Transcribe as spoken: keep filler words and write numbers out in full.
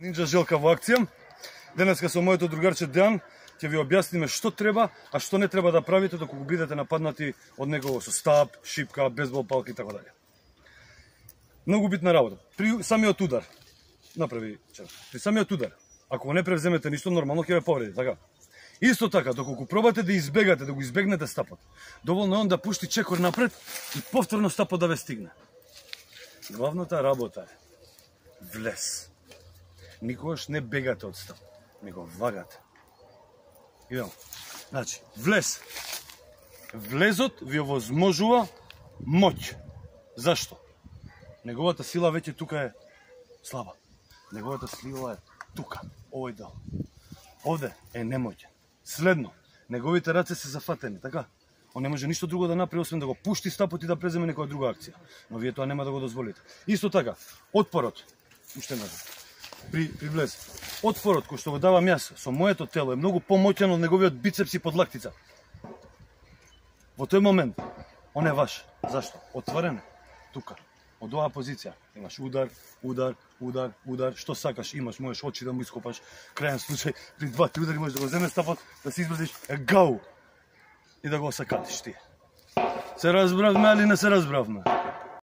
Нинджа Желка во акција. Денеска со моето другарче Дејан ќе ви објасниме што треба, а што не треба да правите доколку бидете нападнати од некого со стап, шипка, бейсбол палка и така дале. Многу битна работа. При самиот удар, направи чар. При самиот удар, ако го не превземете ништо, нормално ќе ве повреди, така? Исто така, доколку пробате да избегате, да го избегнете стапот, доволно е он да пушти чекор напред и повторно стапот да ве стигне. Главната работа е влез. Никогаш не бегате од стап, него вагате. Идемо. Значи, влез. Влезот ви овозможува моќ. Зашто? Неговата сила веќе тука е слаба. Неговата сила е тука, овој дел. Овде е немоќен. Следно, неговите раце се зафатени, така? Он не може ништо друго да направи, освен да го пушти стапот и да преземе некоја друга акција. Но вие тоа нема да го дозволите. Исто така, отпорот, уште назад, при, при влез, отпорот кој што го давам јас со моето тело е многу помоќен од неговиот бицепс и подлактица. Во тој момент, он е ваш. Зашто? Отворен е, тука. Од оваа позиција имаш удар, удар, удар, удар, што сакаш имаш, можеш очи да му ископаш, крајен случај, при два-три удари можеш да го земеш стапот, да се избрзиш, е гау, и да го осакатиш ти. Се разбравме, али не се разбравме?